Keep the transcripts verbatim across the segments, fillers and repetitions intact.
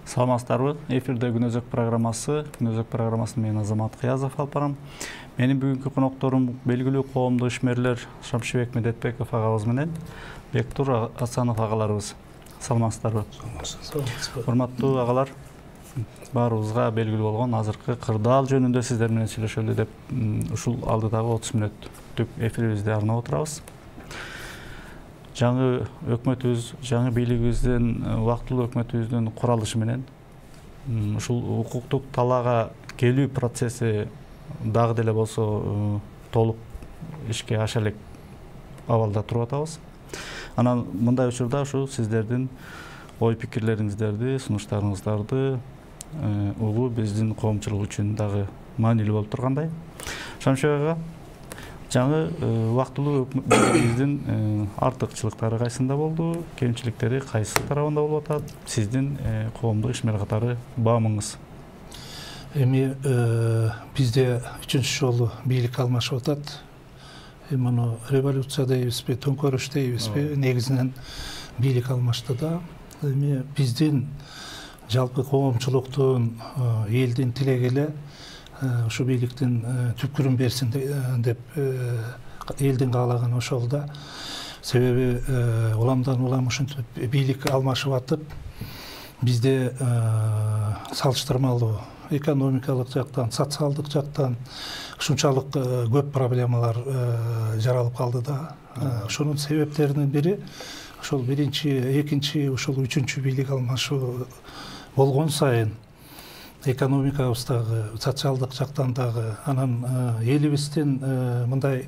Саламатсыздарбы? Эфирде Күнөзөк программасы. Күнөзөк программасын мен Азамат Кыязов алып барам. Менин бүгүнкү конокторум белгилүү коомдук ишмерлер Шамшыбек Медетбеков агабыз менен Бектур Асанов агаларыбыз. Саламатсыздарбы? Саламатсызбы. Урматтуу агалар, баарыбызга белгилүү болгон азыркы кырдаал жөнүндө сиздер менен сүйлөшөлү деп ушул алдыдагы отуз мүнөттүк эфирибизди арнап отурабыз. Жаңы өкмөтүбүз, жаңы бийлигибиздин, убактылуу өкмөтүбүздүн куралышы менен ушул укуктук талаага келүү процесси дагы деле болсо толук ишке аша элек абалда туруп атабыз. Анан мындай учурда ушу сиздердин ой пикирлериңиздерди, сунуштарыңыздарды угуу биздин коомчулук үчүн дагы маанилүү болуп тургандай. Шамшыбек ага, жаңы убактылуу өкмөтүбүздүн артыкчылыктары кайсында болду, кемчиликтери кайсы тарабында болуп атат? Сиздин коомдук ишмер катары баамыңыз? Эми бизде үчүнчү жолу бийлик алмашып атат. Эми муну революция дейбизби, төңкөрүш дейбизби, негизинен бийлик алмашты да. Эми биздин жалпы коомчулуктун, элдин тилеги эле ушу бийликтин түпкүрүн берсин деп элдин каалаганы ошол да. Себеби уламдан улам ушинтип бийлик алмашып атып, бизде салыштырмалуу экономикалык жактан, социалдык жактан ушунчалык көп проблемалар жаралып калды да. Ошонун себептеринин бири ошол биринчи, экинчи, ошол үчүнчү бийлик алмашуу болгон сайын экономикабыз дагы, социалдык жактан дагы, анан элибиздин мындай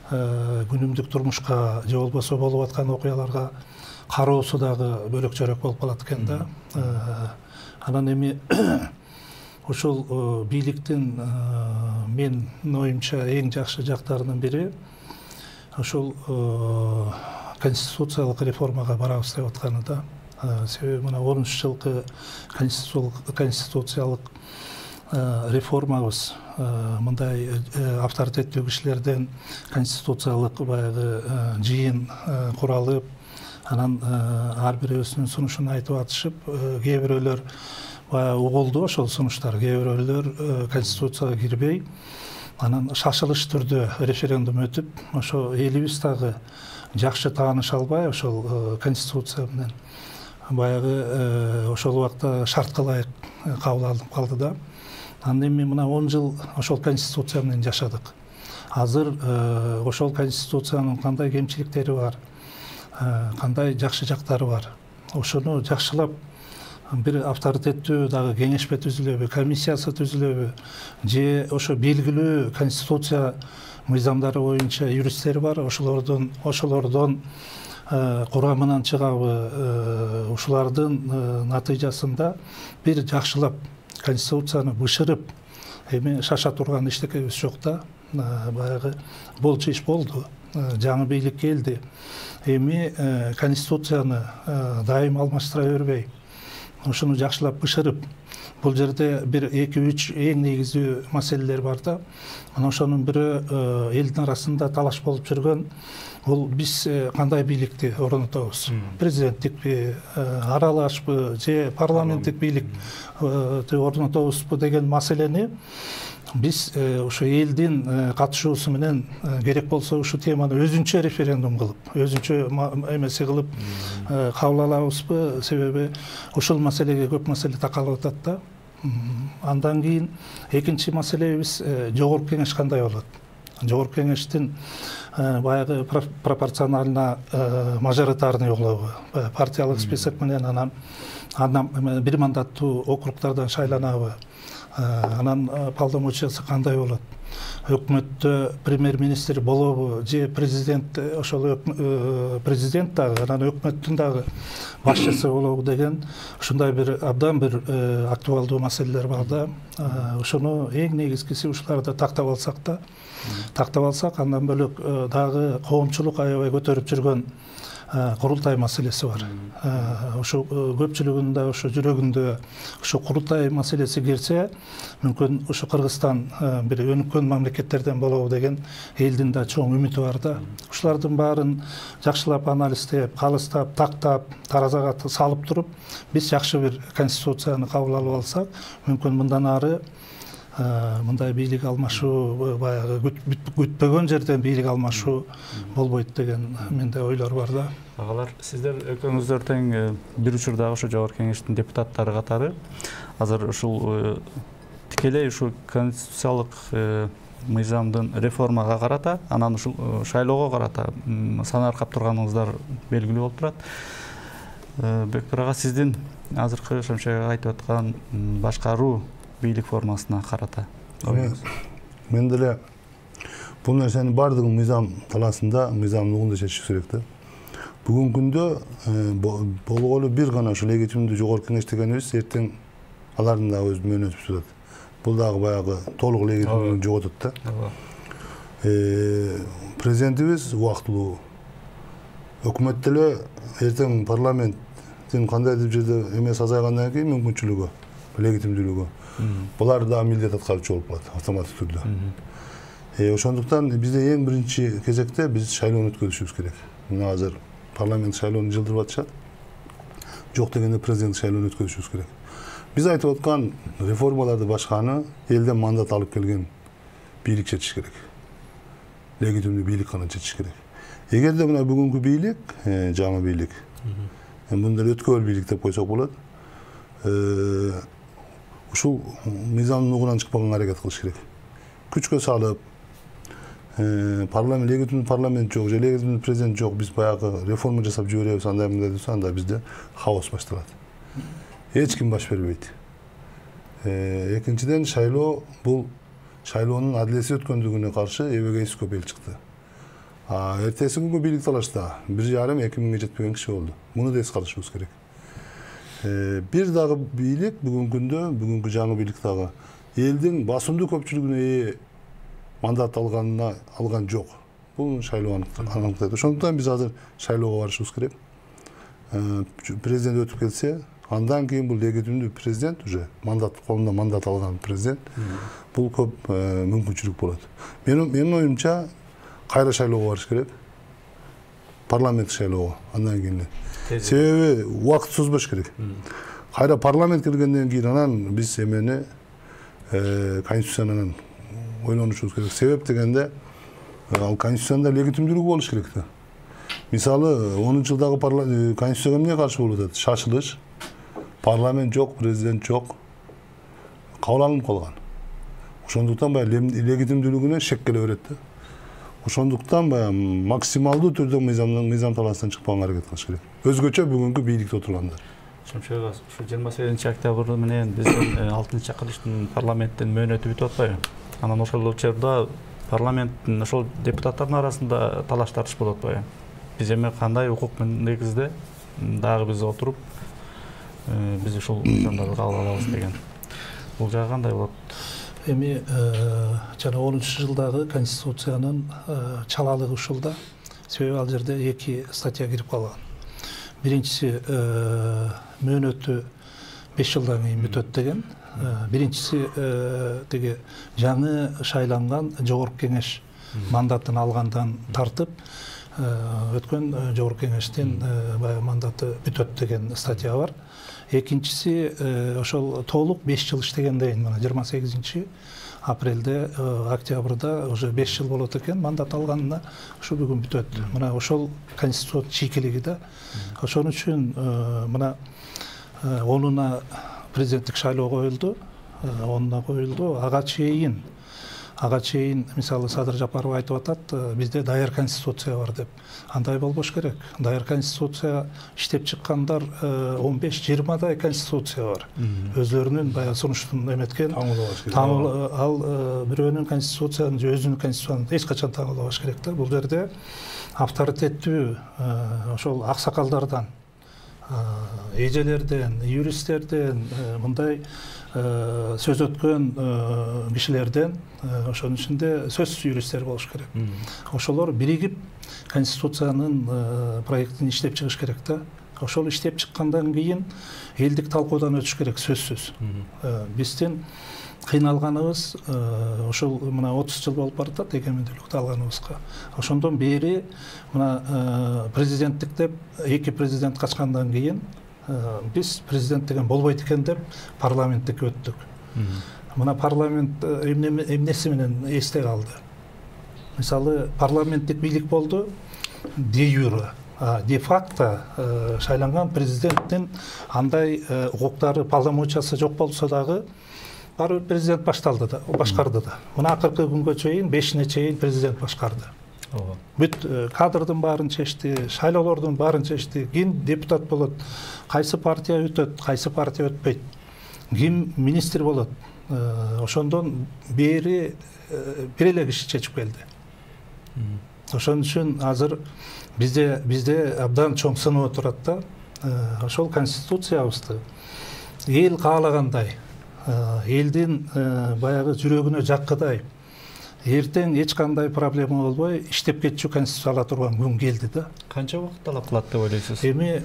күнүмдүк турмушка же болбосо болуп аткан окуяларга кароосу дагы бөлөк жөрөк болуп калат экен да. Анан эми ошол бийликтин мен оюмча эң жакшы жактарынын бири ошол конституциялык реформага барабыз деп атканы да. Себеби мына онунчу жылкы конституциялык реформабыз мындай авторитеттүү кишилерден конституциялык баягы жыйын куралып, анан ар бирөөсүнүн сунушун айтып атышып, кээ бирөөлөр баягы угулду ошол сунуштар, кээ бирөөлөр конституцияга кирбей, анан шашылыш түрдө референдум өтүп, ошо элибиз дагы жакшы тааныша албай ошол конституция менен баягы ошол убакта шартка ылайык кабыл алынып калды да. Анан эми мына он жыл ошол конституция менен жашадык. Азыр ошол конституциянын кандай кемчиликтери бар, кандай жакшы жактары бар, ошону жакшылап бир авторитеттүү дагы кеңешпе түзүлөбү, комиссиясы түзүлөбү, же ошо белгилүү конституция мыйзамдары боюнча юристтер бар, ошолордун ошолордон курамынан чыгабы, ушулардын натыйжасында бир жакшылап конституцияны бышырып, эми шаша турган эчтекебиз жок да. Баягы болчу иш болду, жаңы бийлик келди. Эми конституцияны дайым алмаштыра бербей, ошону жакшылап бышырып, бул жерде бир эки үч эң негизүү маселелер бар да. Анан ошонун бирөө элдин арасында талаш болуп жүргөн, бул биз кандай бийликти орнотобуз? Президенттикпи, аралашпы, же парламенттик бийликти орнотобузбу деген маселени биз ошо элдин катышуусу менен керек болсо ушул теманы өзүнчө референдум кылып, өзүнчө эмеси кылып кабыл алабызбы? Себеби ушул маселеге көп маселе такалып атат да. Андан кийин экинчи маселебиз жогорку кеңеш кандай болот? Жогорку кеңештин баягы пропорционально мажоритарный болобу, партиялык список менен, анан андан бир мандаттуу округдардан шайланабы, анан полномочиясы кандай болот? Өкмөттө премьер-министр болобу, же президент, ошол президент дагы, анан өкмөттүн дагы башчысы болобу деген ушундай бир абдан бир актуалдуу маселелер бар да. Ошону эң негизгиси ушуларды тактап алсак да, тактап алсак, андан бөлөк дагы коомчулук аябай көтөрүп жүргөн курултай маселеси бар. Ошо көпчүлүгүндө, ошо жүрөгүндө ошо курултай маселеси кирсе, мүмкүн ошо Кыргызстан бир өнүккөн мамлекеттерден болобу деген элдин да чоң үмүтү бар да. Ушулардын баарын жакшылап анализдеп, калыстап, тактап, таразага салып туруп, биз жакшы бир конституцияны кабыл алып алсак, мүмкүн мындан ары мындай бийлик алмашуу, баягы күтпөгөн жерден бийлик алмашуу болбойт деген менде ойлор бар да. Агалар, сиздер экөөңүздөр тең бир учурдагы ошо жогорку кеңештин депутаттары катары азыр ушул тикелей ушул конституциялык мыйзамдын реформага карата, анан ушул шайлоого карата сан аркап турганыңыздар белгилүү болуп турат. Бекбир ага, сиздин азыркы Шамшек айтып аткан башкаруу бийлик формасына карата мен деле бул нерсенин баардыгын мыйзам талаасында, мыйзам нугунда чечиш керек да. Бүгүнкү күндө болголу бир гана ушул легитимдүү жогорку кеңеш дегенибиз эртең алардын дагы өз мөөнөтү бүтүп. Бул дагы баягы толук легитимдүүлүгүн жоготот да. Президентибиз убактылуу, өкмөт деле эртең парламенттин кандайдыр жерде эмес азайгандан кийин мүмкүнчүлүгү, легитимдүүлүгү булар да милдет аткаруучу болуп калат автоматтык түрдө. Ошондуктан бизде эң биринчи кезекте биз шайлоону өткөрүшүбүз керек. Мына азыр парламент шайлоону жылдырып атышат. Жок дегенде президент шайлоону өткөрүшүбүз керек. Биз айтып аткан реформаларды башканы элден мандат алып келген бийлик чечиш керек. Легитимдүү бийлик гана чечиш керек. Эгерде мына бүгүнкү бийлик, жаңы бийлик, мындай өткөрүл бийлик деп койсок болот. Ушул мыйзамдын нугунан чыкпаганга аракет кылыш керек. Күчкө салып, парламент легитимдүү парламент жок, же легитимдүү президент жок, биз баягы реформа жасап жиберебиз, андай мындай десе, анда бизде хаос башталат. Эч ким баш бербейт. Экинчиден, шайлоо бул шайлоонун адилетсиз өткөндүгүнө каршы эбегейсиз көп эл чыкты. Эртеси күнгү бийлик талашта бир жарым эки миңге жетпеген киши болду. Муну да эске алышыбыз керек. Бир дагы бийлик бүгүнкү күндө, бүгүнкү жаңы бийлик дагы элдин басымдуу көпчүлүгүнө ээ мандат алганына алган жок. Бул шайлоо аныктайт. Ошондуктан биз азыр шайлоого барышыбыз керек. Президент өтүп келсе, андан кийин бул легитимдүү президент уже мандат колунда мандат алган президент бул көп мүмкүнчүлүк болот. Менин оюмча кайра шайлоого барыш керек. Парламент шайлоого андан кийин. Себеби убакыт созбош керек. Кайра парламент келгенден кийин анан биз эмени конституциянан ойлонушубуз керек. Себеп дегенде ал конституцияда легитимдүүлүгү болуш керек да. Мисалы, онунчу жылдагы конституцияга эмне каршы болуп атат? Шашылыш, парламент жок, президент жок, кабыл алынып калган. Ошондуктан баягы легитимдүүлүгүнө шек келе берет да. Ошондуктан баягы максималдуу түрдө мыйзамдын мыйзам талаасынан чыкпаганга аракет кылыш керек. Өзгөчө бүгүнкү бийликте отургандар. Шамшек ага, ушу жыйырма сегизинчи октябрь менен биздин алтынчы чакырылыштын парламенттин мөөнөтү бүтүп атпайбы? Анан ошол учурда парламенттин ошол депутаттардын арасында талаш тартыш болуп атпайбы? Биз эми кандай укук негизде дагы биз отуруп биз ушул мыйзамдарды кабыл алабыз деген. Бул жагы кандай болот? Эми жана онунчу жылдагы конституциянын чалалыгы ушулда. Себеби ал жерде эки статья кирип калган. Биринчиси мөөнөтү беш жылдан кийин бүтөт деген. Биринчиси теги жаңы шайланган жогорку кеңеш мандатын алгандан тартып өткөн жогорку кеңештин баягы мандаты бүтөт деген статья бар. Экинчиси ошол толук беш жыл иштегенден мына жыйырма сегизинчи апрелде, октябрда уже беш жыл болот экен мандат алганына, ушу бүгүн бүтөт. Мына ошол конституциянын чийкилиги да. Ошон үчүн мына онуна президенттик шайлоо коюлду, онуна коюлду. Ага чейин, ага чейин мисалы Садыр Жапаров айтып атат, бизде даяр конституция бар деп. Андай болбош керек. Даяр конституция иштеп чыккандар он беш жыйырмадай конституция бар. Өзлөрүнүн баягы сунуштун эметкен ал бирөөнүн конституцияны же өзүнүн конституцияны эч качан таңдабаш керек да. Бул жерде авторитеттүү ошол аксакалдардан эжелерден, юристтерден, мындай сөз өткөн кишилерден, ошонун ичинде сөзсүз юристтер болуш керек. Ошолор биригип конституциянын проектин иштеп чыгыш керек да. Ошол иштеп чыккандан кийин элдик талкуудан өтүш керек сөзсүз. Биздин кыйналганыбыз ошол мына отуз жыл болуп баратат эгемендүүлүктү алганыбызга. Ошондон бери мына президенттик деп эки президент качкандан кийин биз президент деген болбойт экен деп парламенттикке өттүк. Мына парламент эмнеси менен эсте калды? Мисалы парламенттик бийлик болду де юре, де факто шайланган президенттин андай укуктары, полномочиясы жок болсо дагы баары бир президент башталды да, башкарды да. Мына акыркы күнгө чейин бешине чейин президент башкарды. Бүт кадрдын баарын чечти, шайлоолордун баарын чечти, ким депутат болот, кайсы партия өтөт, кайсы партия өтпөйт, ким министр болот. Ошондон бери бир эле киши чечип келди. Ошон үчүн азыр бизде бизде абдан чоң сынып турат да. Ошол конституциябызды эл каалагандай, элдин баягы жүрөгүнө жаккыдай, эртең эч кандай проблема болбой иштеп кетчү конституция ала турган күн келди да. Канча убакыт талап кылат деп ойлойсуз? Эми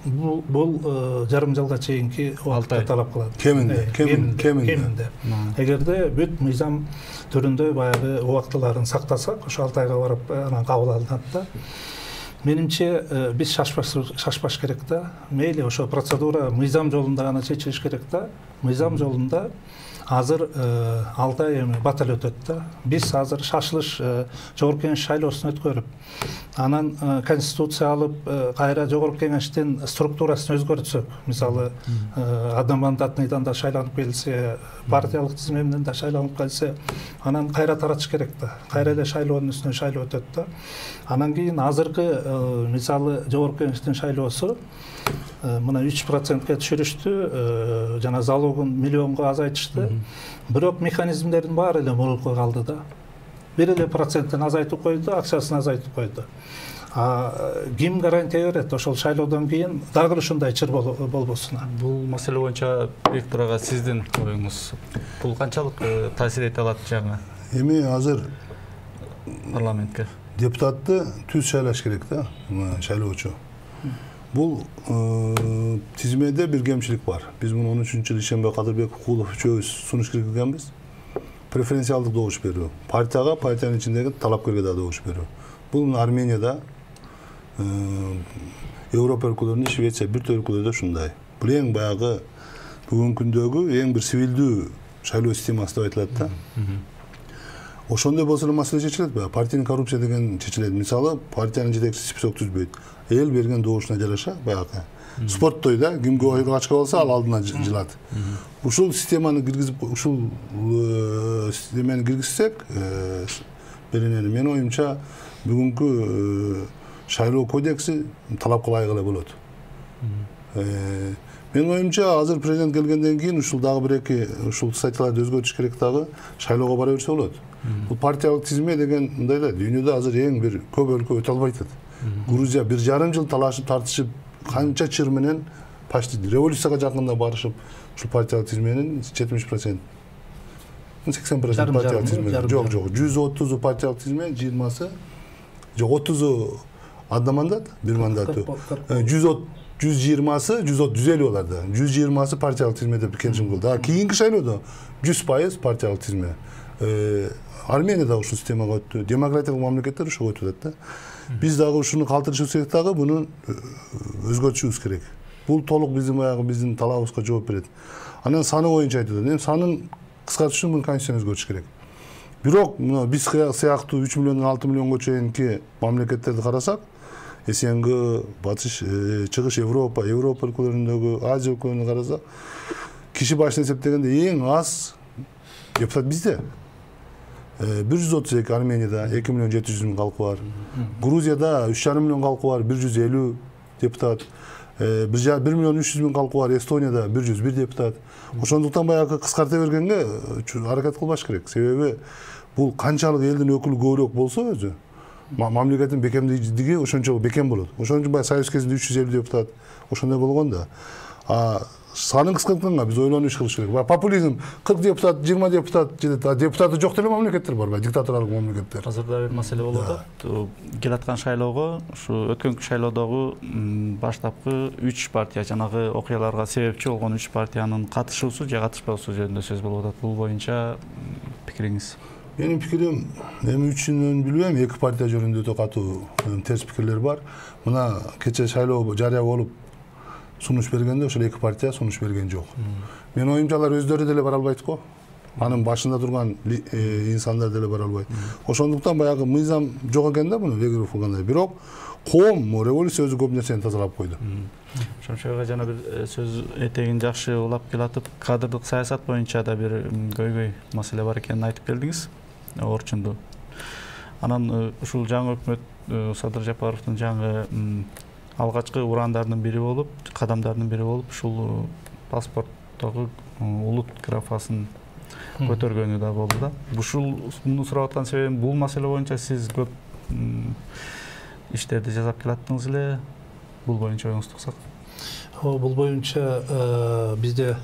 бул бул жарым жылга чейинки убакытты талап кылат. Кеминде, кеминде. Эгерде бүт мыйзам түрүндө баягы убактыларын сактасак, ошо алты айга барып анан кабыл алынат да. Менимче биз шашпаш керек да. Мейли ошо процедура мыйзам жолунда гана чечилиш керек да. Мыйзам жолунда азыр алты ай эми батал өтөт да. Биз азыр шашылыш жогорку кеңеш шайлоосун өткөрүп, анан конституция алып, кайра жогорку кеңештин структурасын өзгөртсөк, мисалы одномандатныйдан да шайланып келсе, партиялык тизме менен да шайланып келсе, анан кайра таратыш керек да. Кайра эле шайлоонун үстүнө шайлоо өтөт да. Анан кийин азыркы мисалы жогорку кеңештин шайлоосу мына үч процентке түшүрүштү, жана залогун миллионго азайтышты. Бирок механизмдердин баары эле мурунку калды да. Бир эле проценттен азайтып койду, акчасын азайтып койду. А ким гарантия берет ошол шайлоодон кийин дагы ушундай чыр болбосуна? Бул маселе боюнча Бектур ага сиздин оюңуз бул канчалык таасир эте алат жаңы? Эми азыр парламентке депутатты түз шайлаш керек да, шайлоочу. Бул тизмеде бир кемчилик бар. Биз муну он үчүнчү жылы Ишенбай Кадырбеков, Куулов үчөөбүз сунуш киргизгенбиз. Преференциалдык добуш берүү. Партияга, партиянын ичиндеги талапкерге да добуш берүү. Бул Арменияда, Европа өлкөлөрүндө, Швеция, бир топ өлкөлөрдө ушундай. Бул эң баягы бүгүнкү күндөгү эң бир сивилдүү шайлоо системасы деп айтылат да. Ошондой болсо эле маселе чечилет баягы. Партиянын коррупция деген чечилет. Мисалы, партиянын жетекчиси список түзбөйт. Эл берген добушуна жараша баягы. Спорттой да, кимге ойго ачка болсо ал алдына жылат. Ушул системаны киргизип, ушул системаны киргизсек, беренени менин оюмча бүгүнкү шайлоо кодекси талапка ылайык эле болот. Менин оюмча азыр президент келгенден кийин ушул дагы бир эки ушул статьяларды өзгөртүш керек дагы, шайлоого бара берсе болот. Бул партиялык тизме деген мындай эле, дүйнөдө азыр эң бир көп өлкө өтө албай атат. Грузия бир жарым жыл талашып тартышып, канча чыр менен почти революцияга жакында барышып, ушул партиялык тизменин жетимиш процент, сексен процент партиялык тизме. Жок, жок, жүз отузу партиялык тизме, жыйырмасы, жок, отузу одно мандат, бир мандаты. жүз жыйырмасы, жүз элүү аларда. жүз жыйырмасы партиялык тизме деп келишим кылды. А кийинки шайлоодо жүз пайыз партиялык тизме. Армения да ушул системага өттү. Демократиялык мамлекеттер ошого өтүп атат да. Биз дагы ушуну калтырышыбыз керек дагы, буну өзгөртүшүбүз керек. Бул толук биздин баягы биздин талабыбызга жооп берет. Анан саны боюнча айтып атат. Эми санын кыскартыш үчүн муну конституцияны өзгөртүш керек. Бирок мына биз сыяктуу үч миллиондон алты миллионго чейинки мамлекеттерди карасак, СНГ, Батыш, Чыгыш Европа, Европа өлкөлөрүндөгү, Азия өлкөлөрүндө карасак, киши башына эсептегенде эң аз депутат бизде. бир жүз отуз эки, Арменияда эки миллион жети жүз миң калкы бар. Грузияда үч жарым миллион калкы бар, бир жүз элүү депутат. бир миллион үч жүз миң калкы бар, Эстонияда бир жүз бир депутат. Ошондуктан баягы кыскарта бергенге аракет кылбаш керек. Себеби бул канчалык элдин өкүлү көбүрөөк болсо өзү, мамлекеттин бекемдиги ошончо бекем болот. Ошон үчүн баягы союз кезинде үч жүз элүү депутат ошондой болгон да. А санын кыскартканга биз ойлонуп иш кылыш керек. Популизм кырк депутат, жыйырма депутат жетет. А депутаты жок деле мамлекеттер бар, диктаторлук мамлекеттер. Азырда бир маселе болуп атат. Келаткан шайлоого, ушу өткөнкү шайлоодогу баштапкы үч партия, жанагы окуяларга себепчи болгон үч партиянын катышуусу же катышпоосу жөнүндө сөз болуп атат. Бул боюнча пикириңиз? Менин пикирим, эми үчүнөн билбейм, эки партия жөнүндө өтө катуу терс пикирлер бар. Мына кече шайлоо жарыя болуп сунуш бергенде ошол эки партия сунуш берген жок. Менин оюмча алар өздөрү деле бара албайт го. Анын башында турган инсандар деле бара албайт. Ошондуктан баягы мыйзам жок экен да муну Вегеров кылгандай. Бирок коом революция өзү көп нерсени тазалап койду. Ошончо жана бир сөз этегин жакшы улап келатып, кадрдык саясат боюнча да бир көйгөй маселе бар экенин айтып келдиңиз. Орчунду. Анан ушул жаңы өкмөт Садыр Жапаровдун жаңы алгачкы урандардын бири болуп, кадамдардын бири болуп, ушул паспорттогу улут графасын көтөргөнү да болду да. Ушул муну сурап аткан себебим, бул маселе боюнча сиз көп иштерди жасап келаттыңыз эле. Бул боюнча оюңузду уксак. Бул боюнча бизде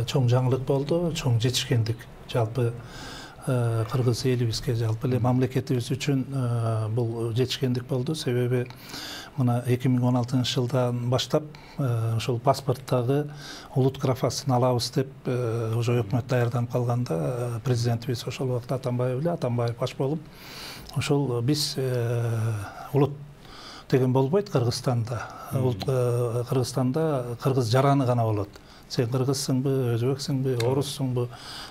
чоң жаңылык болду, чоң жетишкендик. Жалпы кыргыз элибизге, жалпы эле мамлекетибиз үчүн бул жетишкендик болду. Себеби мына эки миң он алтынчы жылдан баштап ошол паспорттагы улут графасын алабыз деп уже өкмөт даярданып калганда президентибиз ошол убакта Атамбаев эле, Атамбаев баш болуп, ошол биз улут деген болбойт Кыргызстанда. Кыргызстанда кыргыз жараны гана болот. Сен кыргызсыңбы, өзбексиңби, оруссуңбу,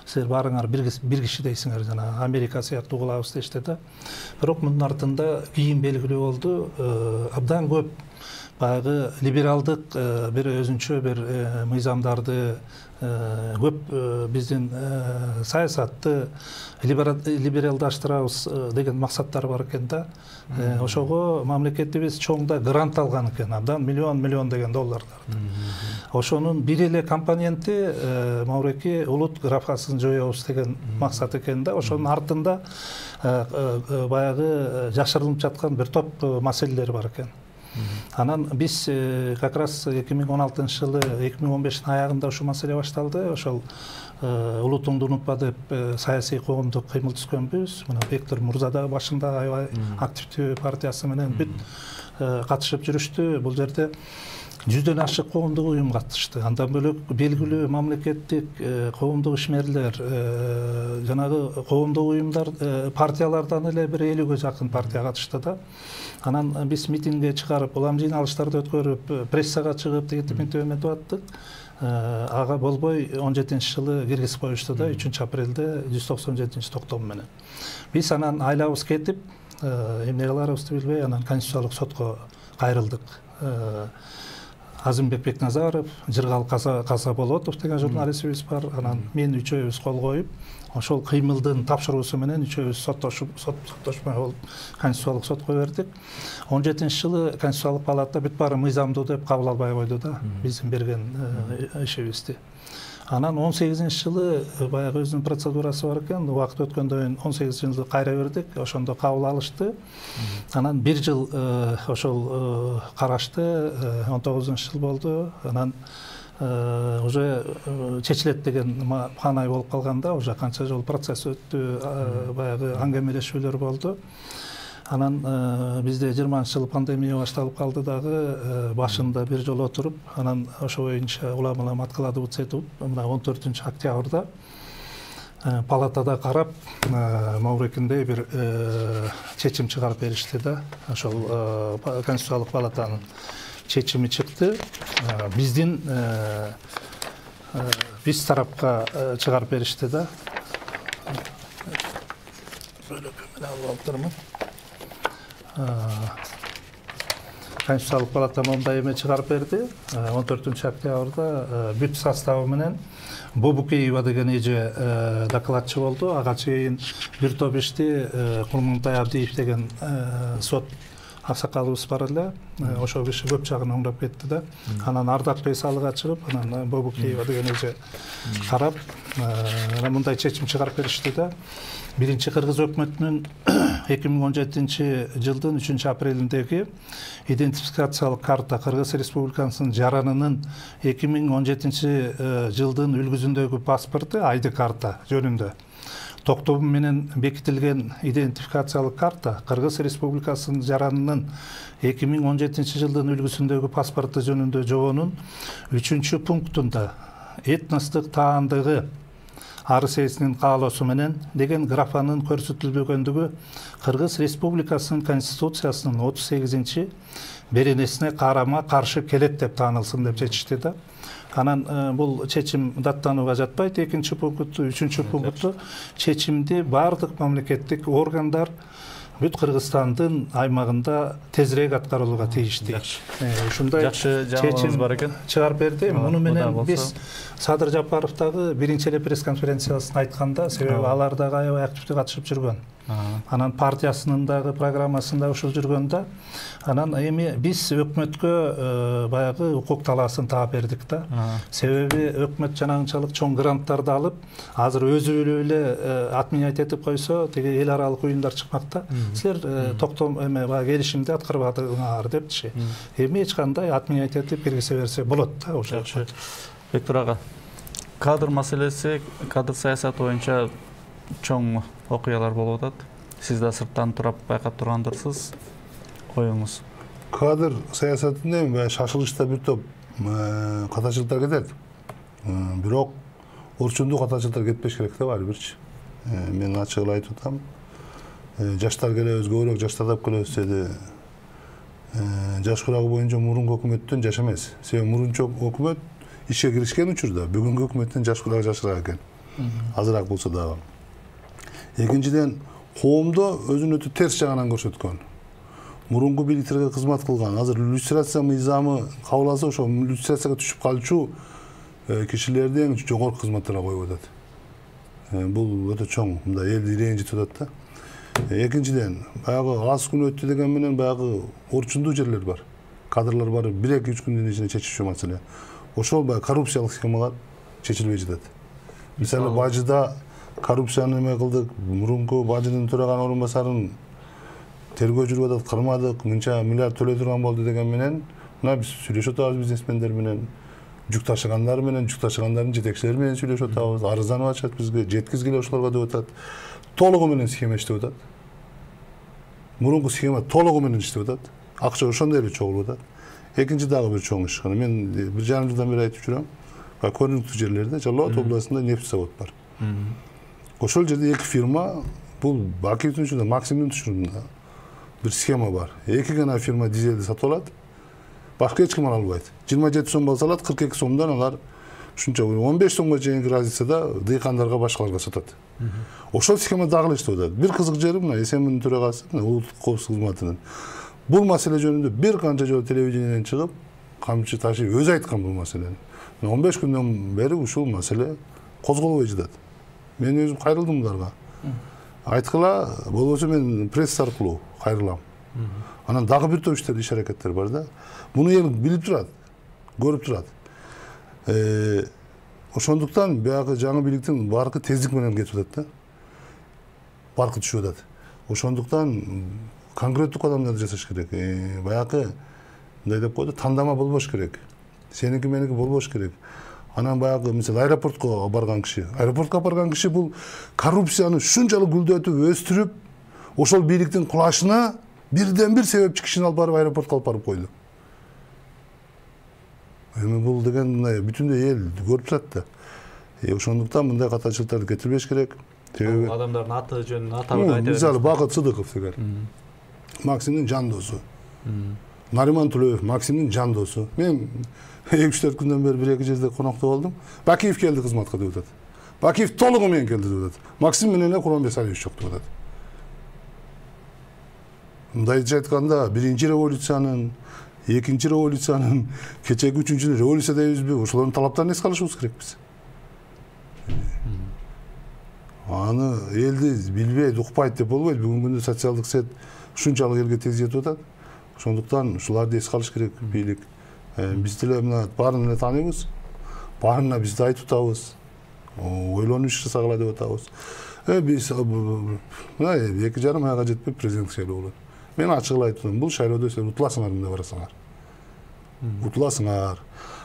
силер баарыңар бир киши дейсиңер, жана Америка сыяктуу кылабыз дешти да. Бирок мунун артында кийин белгилүү болду, абдан көп баягы либералдык бир өзүнчө бир мыйзамдарды, көп биздин саясатты либералдаштырабыз деген максаттар бар экен да. Ошого мамлекетибиз чоңда грант алган экен, абдан миллион миллион деген долларларды. Ошонун бир эле компоненти могуреки улут графасын жоебуз деген максат экен да. Ошонун артында баягы жашырылып жаткан бир топ маселелер бар экен. Анан биз как раз эки миң он алтынчы жылы, эки миң он бештин аягында ушул маселе башталды. Ошол улутуңду унутпа деп саясий коомдук кыймыл түзгөнбүз. Мына Бектур Мурза да башында аябай активдүү партиясы менен бүт катышып жүрүштү. Бул жерде жүздөн ашык коомдук уюм катышты. Андан бөлөк белгилүү мамлекеттик коомдук ишмерлер, жанагы коомдук уюмдар, партиялардан эле бир элүүгө жакын партия катышты да. Анан биз митингге чыгарып, улам жыйналыштарды өткөрүп, прессага чыгып, тигитиминтип эметип аттык. Ага болбой он жетинчи жылы киргизип коюшту да, үчүнчү апрелде жүз токсон жетинчи токтом менен. Биз анан айлабыз кетип, эмне кыларыбызды билбей, анан Конституциялык сотко кайрылдык. Азымбек Бекназаров, Жыргал Каза Болотов деген журналистибиз бар. Анан мен үчөөбүз кол коюп, ошол кыймылдын тапшыруусу менен үчөөбүз соттошуп, соттошмой болуп, Конституциялык сотко бердик. он жетинчи жылы Конституциялык палата бүт баары мыйзамдуу деп кабыл албай койду да, биздин берген ишибизди. Анан он сегизинчи жылы баягы өзүнүн процедурасы бар экен. Убакыт өткөндөн кийин он сегизинчи жылы кайра бердик. Ошондо кабыл алышты. Анан бир жыл ошол карашты, он тогузунчу жыл болду. Анан уже чечилет деген каанай болуп калганда, уже канча жыл процесс өттү, баягы аңгемелешүүлөр болду. Анан бизде жыйырманчы жылы пандемия башталып калды дагы, башында бир жолу отуруп, анан ошо боюнча улам улам откладывать этип, мына он төртүнчү октябрда палатада карап, могурекиндей бир чечим чыгарып беришти да. Ошол Конституциялык палатанын чечими чыкты. Биздин биз тарапка чыгарып беришти да. Конституциялык палата мондай эме чыгарып берди. он төртүнчү октябрда бүт составы менен Бобукеева деген эже докладчы болду. Ага чейин бир топ ишти Курмантай Абдиев деген сот аксакалыбыз бар эле, ошол киши көп жагын оңдоп кетти да. Анан Ардак салыга чыгып, анан Бобукеева деген эже карап, анан мындай чечим чыгарып беришти да. Биринчи кыргыз өкмөтүнүн эки миң он жетинчи жылдын үчүнчү апрелиндеги идентификациялык карта Кыргыз Республикасынын жаранынын эки миң он жетинчи жылдын үлгүзүндөгү паспорту ай ди карта жөнүндө токтому менен бекитилген идентификациялык карта Кыргыз Республикасынын жаранынын эки миң он жетинчи жылдын үлгүсүндөгү паспорту жөнүндө жобонун үчүнчү пунктунда этностук таандыгы арыз ээсинин каалоосу менен деген графанын көрсөтүлбөгөндүгү Кыргыз Республикасынын Конституциясынын отуз сегизинчи беренесине карама каршы келет деп таанылсын деп чечишти да. Анан бул чечим даттанууга жатпайт. Экинчи пункту, үчүнчү пункту чечимди бардык мамлекеттик органдар бүт Кыргызстандын аймагында тезирээк аткарылууга тийиштүү. Ушундай чечим бар экен. Чыгарып берди. Муну менен биз Садыр Жапаров дагы биринчи эле пресс-конференциясында айтканда, себеби алар дагы аябай активдүү катышып жүргөн. Анан партиясынын дагы программасында ушул жүргөн да. Анан эми биз өкмөткө баягы укук талаасын таап бердик да. Себеби өкмөт жанагынчалык чоң гранттарды алып, азыр өзү эле отменять этип койсо, теге эл аралык уюмдар чыкмакта. Силер токтом эме баягы келишимди аткарбадыңар депчи. Эми эч кандай отменять этип киргизе берсе болот да ошо. Бектур ага, кадр маселеси, кадр саясаты боюнча чоң окуялар болуп атат. Сиз да сырттан турап байкап тургандырсыз. Оюңуз. Кадр саясатында эми шашылышта бир топ катачылыктар кетет. Бирок орчундуу катачылыктар кетпеш керек да баары бирчи. Мен ачык эле айтып атам. Жаштар келебиз, көбүрөөк жаштар тап келебиз деди. Жаш курагы боюнча мурунку өкмөттөн жаш эмес. Себеби мурунчу өкмөт ишке киришкен учурда бүгүнкү өкмөттөн жаш курагы жашыраак экен. Азыраак болсо дагы. Экинчиден, коомдо өзүн өтө терс жагынан көрсөткөн. Мурунку бийликтерге кызмат кылган, азыр иллюстрация мыйзамы кабыл алса, ошо иллюстрацияга түшүп калчу кишилерди эң жогорку кызматтарга коюп атат. Бул өтө чоң, мындай элди ренжитип атат да. Экинчиден, баягы аз күн өттү деген менен баягы орчундуу жерлер бар. Кадрлар бар, бир эки үч күндүн ичинде чечишүү маселе. Ошол баягы коррупциялык схемалар чечилбей жатат. Мисалы, Бажыда коррупцияны эме кылдык, мурунку Бажынын төраган орун басарын тергөө жүрүп атат, кырмадык, мынча миллиард төлөй турган болду деген менен, мына биз сүйлөшүп атабыз бизнесмендер менен, жүк ташыгандар менен, жүк ташыгандардын жетекчилери менен сүйлөшүп атабыз, арызданып атышат бизге, жеткизгиле ошолорго деп атат. Толугу менен схема иштеп атат. Мурунку схема толугу менен иштеп атат. Акча ошондой эле чогулуп атат. Экинчи дагы бир чоң иш. Мен бир жарым жылдан бери айтып жүрөм. Көрүнүктүү жерлерде Жалал Абад областында нефть завод бар. Ошол жерде эки фирма, бул Бакиевдин учурунда, Максимдин учурунда бир схема бар. Эки гана фирма дизелди сатып алат. Башка эч ким ала албайт. жыйырма жети сом болсо алат, кырк эки сомдон алар ушунча он беш сомго чейинки разницада дыйкандарга башкаларга сатат. Ошол схема дагы эле иштеп атат. Бир кызык жери мына СМнин төрагасы, улуттук коопсуздук кызматынын бул маселе жөнүндө бир канча жолу телевидениеден чыгып, камчы ташып өзү айткан бул маселени. он беш күндөн бери ушул маселе козголбой жатат. Мен өзүм кайрылдым буларга. Айткыла, болбосо мен пресс аркылуу кайрылам. Анан дагы бир топ иштер, иш аракеттер бар да. Муну эл билип турат, көрүп турат. Э, ошондуктан баягы жаңы бийликтин баркы тездик менен кетип атат да. Баркы түшүп атат. Ошондуктан конкреттүү кадамдарды жасаш керек. Э, баягы мындай деп койду, тандама болбош керек. Сеники меники болбош керек. Анан баягы мисалы аэропортко барган киши, аэропортко барган киши бул коррупцияны ушунчалык гүлдөтүп, өстүрүп, ошол бийликтин кулашына бирден бир себепчи кишини алып барып аэропортко алып барып койду. Эми бул деген мындай бүтүндөй эл көрүп турат да. Э, ошондуктан мындай катачылыктарды кетирбеш керек. Себеби адамдардын аты жөнүн атап айта берет. Мисалы Бакыт Сыдыков деген. Максимдин жан досу. Нариман Тулеев Максимдин жан досу. Мен эки үч төрт күндөн бери бир эки жерде конокто болдум. Бакиев келди кызматка деп атат. Бакиев толугу менен келди деп атат. Максим менен эле Курманбек Салиевич жок деп атат. Мындайча айтканда, биринчи революциянын, экинчи революциянын, кечеги үчүнчү революция дейбизби, ошолордун талаптарын эске алышыбыз керекпиз. Аны элди билбейт, укпайт деп болбойт. Бүгүнкү күндө социалдык сет ушунчалык элге тез жетип атат. Ошондуктан ушуларды эске алыш керек бийлик. Биз деле мына баарын эле тааныйбыз. Баарына биз да айтып атабыз. Ойлонуп иш жасагыла деп атабыз. Э биз мына эки жарым айга жетпей президенттик шайлоо болот. Мен ачык эле айтып атам, бул шайлоодо сен утуласыңар мындай барасыңар. Утуласыңар.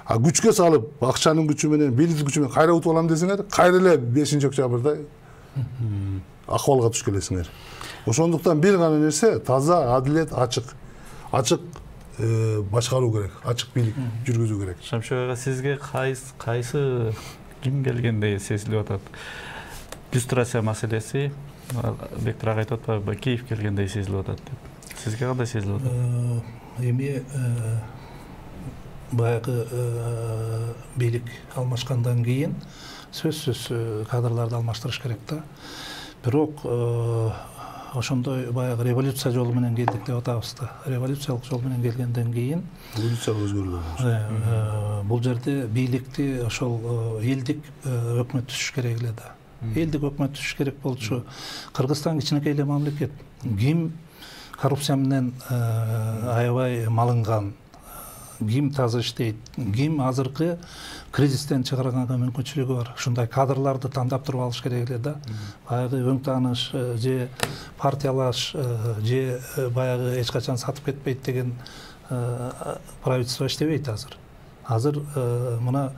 А күчкө салып, акчанын күчү менен, бийликтин күчү менен кайра утуп алам десеңер, кайра эле бешинчи октябрда акыбалга туш келесиңер. Ошондуктан бир гана нерсе таза, адилет, ачык. Ачык башкаруу керек, ачык бийлик жүргүзүү керек. Шамшык ага, сизге кайсы кайсы ким келгендей сезилип атат? Люстрация маселеси, Бектир ага айтып атпайбы, Киев келгендей сезилип атат деп. Сизге кандай сезилип атат? Эми баягы бийлик алмашкандан кийин сөзсүз кадрларды алмаштырыш керек да. Бирок ошондой баягы революция жолу менен келдик деп атабыз да. Революциялык жол менен келгенден кийин революциялык өзгөрүү. Бул жерде бийликти ошол элдик өкмөт түзүш керек эле да. Элдик өкмөт түзүш керек болчу. Кыргызстан кичинекей эле мамлекет. Ким коррупция менен аябай малынган, ким таза иштейт, ким азыркы кризистен чыгарганга мүмкүнчүлүгү бар. Ушундай кадрларды тандап туруп алыш керек эле да. Баягы өң тааныш же партиялаш же баягы эч качан сатып кетпейт деген правительство иштебейт азыр. Азыр мына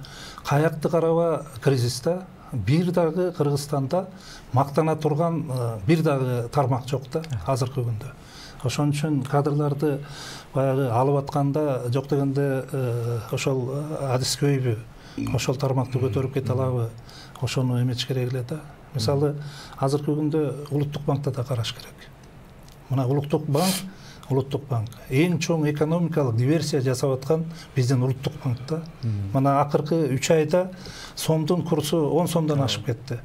каякты караба кризисте бир дагы Кыргызстанда мактана турган бир дагы тармак жок да азыркы күндө. Ошон үчүн кадрларды баягы алып атканда жок дегенде ошол адискөйбү, ошол тармакты көтөрүп кете алабы, ошону эметиш керек эле да. Мисалы, азыркы күндө Улуттук банкта да караш керек. Мына Улуттук банк, Улуттук банк эң чоң экономикалык диверсия жасап аткан биздин Улуттук банкта. Мына акыркы үч айда сомдун курсу он сомдон ашып кетти.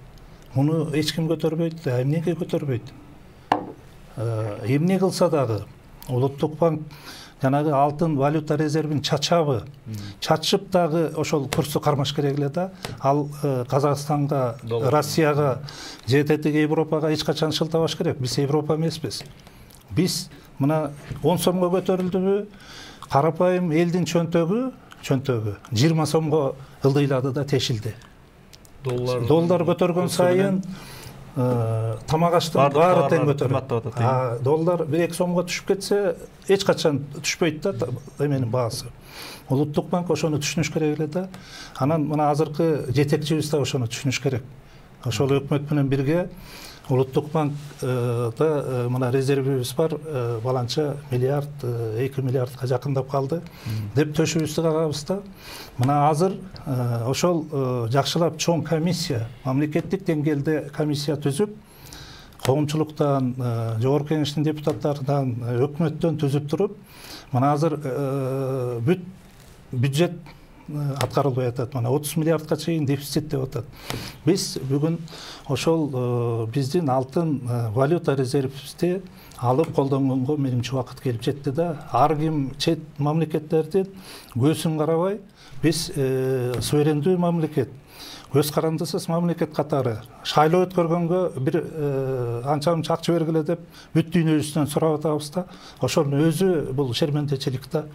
Муну эч ким көтөрбөйт, эмнеге көтөрбөйт? Эмне кылса дагы Улуттук банк жанагы алтын валюта резервин чачабы, чачып дагы ошол курсу кармаш керек эле да. Ал Казакстанга, Россияга, же тетиги Европага эч качан шылтабаш керек. Биз Европа эмеспиз. Биз мына он сомго көтөрүлдүбү, карапайым элдин чөнтөгү, чөнтөгү жыйырма сомго ылдыйлады да тешилди. Доллар доллар көтөргөн сайын тамак аштын баары тең көтөрүлөт. Доллар бир эки сомго түшүп кетсе, эч качан түшпөйт да эменин баасы. Улуттук банк ошону түшүнүш керек эле да. Анан мына азыркы жетекчибиз да ошону түшүнүш керек. Ошол өкмөт менен бирге Улуттук банкта мына резервибиз бар, баланча миллиард, эки миллиардка жакындап калды деп төшүбүздү кагабыз да. Мына азыр ошол жакшылап чоң комиссия, мамлекеттик деңгээлде комиссия түзүп, коомчулуктан, жогорку кеңештин депутаттарынан, өкмөттөн түзүп туруп, мына азыр бүт бюджет аткарылбай атат. Мына отуз миллиардка чейин дефицит деп атат. Биз бүгүн ошол биздин алтын валюта резервибизди алып колдонгонго менимче убакыт келип жетти да. Ар ким чет мамлекеттердин көзүн карабай, биз суверендүү мамлекет, көз карандысыз мамлекет катары шайлоо өткөргөнгө бир анча мынча акча бергиле деп бүт дүйнөбүздөн сурап атабыз да. Ошонун өзү бул шермендечилик да.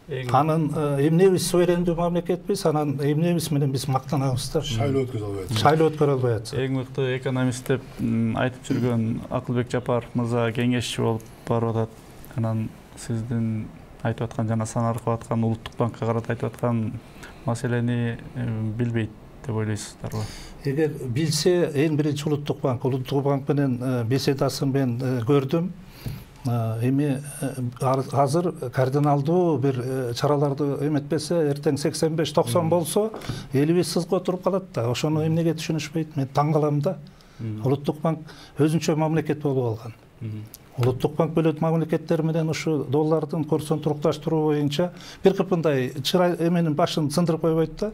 Анын эмнебиз суверендүү мамлекетпиз, анан эмнебиз менен биз мактанабыз да. Шайлоо өткөрө албайт. Шайлоо өткөрө албайт. Эң мыкты экономист деп айтып жүргөн Акылбек Жапаров мырза кеңешчи болуп барып атат. Анан сиздин айтып аткан жана санаркып аткан Улуттук банкка карата айтып аткан маселени билбейт деп ойлойсуздарбы? Эгер билсе, эң биринчи Улуттук банк, Улуттук банк менен беседасын мен көрдүм. Эми азыр кардиналдуу бир чараларды эметпесе, эртең сексен беш токсон болсо, элибиз сызга отуруп калат да. Ошону эмнеге түшүнүшпөйт? Мен таң калам да. Улуттук банк өзүнчө мамлекет болуп алган. Улуттук банк бөлөт мамлекеттер менен ушу доллардын курсун турукташтыруу боюнча бир кыпындай чырай эменин башын сындырып койбойт да.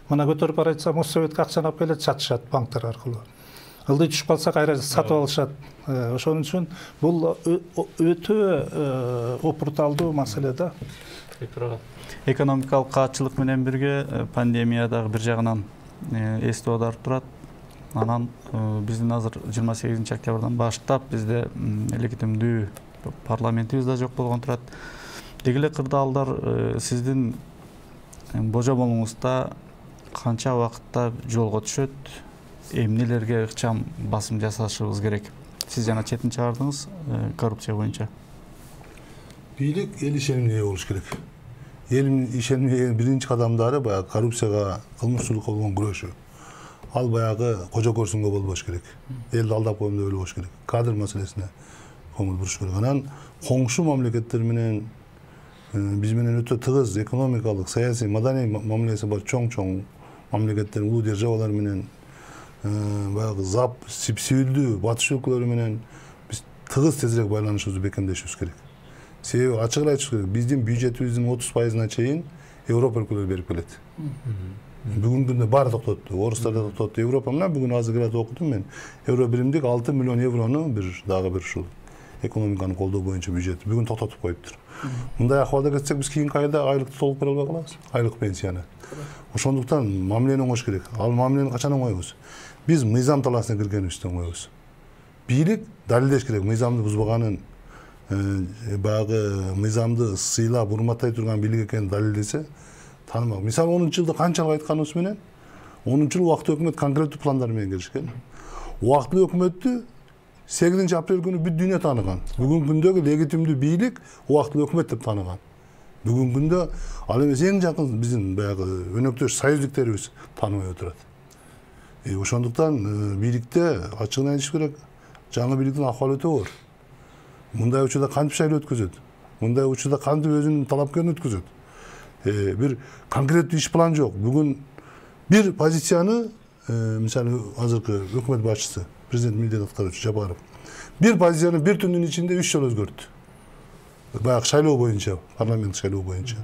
Мына көтөрүп бара жатсам, Моссоветке акчаны алып келет, сатышат банктар аркылуу. Ылдый түшүп калса кайра сатып алышат. Ошон үчүн бул өтө опурталдуу маселе да. Экономикалык каатчылык менен бирге пандемия дагы бир жагынан эсте аударып турат. Анан биздин азыр жыйырма сегизинчи октябрдан баштап бизде легитимдүү парламентибиз да жок болгон турат. Деги эле кырдаалдар сиздин божомолуңузда канча убакытта жолго түшөт, эмнелерге ыкчам басым жасашыбыз керек? Сиз жана четин чыгардыңыз коррупция боюнча. Бийлик эл ишенимине ээ болуш керек. Эл ишенимине биринчи кадамдары баягы коррупцияга, кылмышчылыкка болгон күрөшүү. Ал баягы кожо көрсүнгө болбош керек. Элди алдап коем деп ойлобош керек. Кадр маселесине көңүл буруш керек. Анан коңшу мамлекеттер менен биз менен өтө тыгыз экономикалык, саясий, маданий мамилеси бар чоң-чоң мамлекеттер, улуу державалар менен баягы зап, сибилдүү батыш өлкөлөрү менен биз тыгыз тезирээк байланышыбызды бекемдешибиз керек. Себеби ачык эле айтыш керек, биздин бюджетибиздин отуз пайызына чейин Европа өлкөлөрү берип келет. Бүгүнкү күндө баары токтотту. Орустар да токтотту. Европа менен бүгүн азыр град окудум мен. Евро биримдик алты миллион еврону бир дагы бир ушул экономиканы колдоо боюнча бюджет бүгүн токтотуп коюптур. Мындай акыбалда кетсек биз кийинки айда айлыкты толук бере албай калабыз. Айлык пенсияны. Ошондуктан мамилени оңош керек. Ал мамилени качан оңойбуз? Биз мыйзам талаасына киргенибизде оңойбуз. Бийлик далилдеш керек, мыйзамды бузбаганын, баягы мыйзамды сыйлап, урматтай турган бийлик экенин далилдесе, таанымак. Мисалы онунчу жылда канчалык айтканыбыз менен, онунчу жылы убактылуу өкмөт конкреттүү пландар менен келишкен. Убактылуу өкмөттү сегизинчи апрель күнү бүт дүйнө тааныган. Бүгүнкү күндөгү легитимдүү бийлик убактылуу өкмөт деп тааныган. Бүгүнкү күндө ал эмес эң жакын биздин баягы өнөктөш союздуктерибиз тааныбай отурат. Ошондуктан бийликте ачыгын айтыш керек, жаңы бийликтин акыбалы өтө оор. Мындай учурда кантип шайлоо өткөзөт? Мындай учурда кантип өзүнүн талапкерин өткөзөт? Бир конкреттүү иш план жок. Бүгүн бир позицияны, мисалы азыркы өкмөт башчысы, президент милдет аткаруучу Жапаров, бир позицияны бир түндүн ичинде үч жолу өзгөрттү. Баягы шайлоо боюнча, парламент шайлоо боюнча.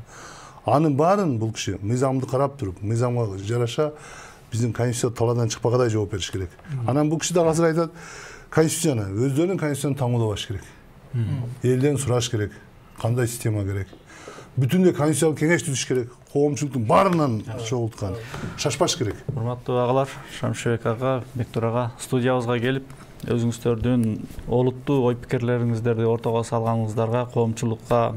Анын баарын бул киши мыйзамды карап туруп, мыйзамга жараша биздин конституция талаадан чыкпагандай жооп бериш керек. Анан бул киши дагы азыр айтат, конституцияны, өздөрүнүн конституцияны таңуулабаш керек. Элден сураш керек, кандай система керек. Бүтүндөй конституциялык кеңеш түзүш керек. Коомчулуктун баарынан чогулткан. Шашпаш керек. Урматтуу агалар, Шамшыбек ага, Бектур ага студиябызга келип, өзүңүздөрдүн олуттуу ой пикирлериңиздерди ортого салганыңыздарга, коомчулукка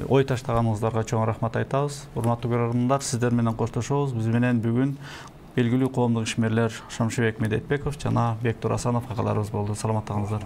ой таштаганыңыздарга чоң рахмат айтабыз. Урматтуу көрөрмандар, сиздер менен коштошобуз. Биз менен бүгүн белгилүү коомдук ишмерлер Шамшыбек Медетбеков жана Бектур Асанов агаларыбыз болду. Саламаттыгыңыздар.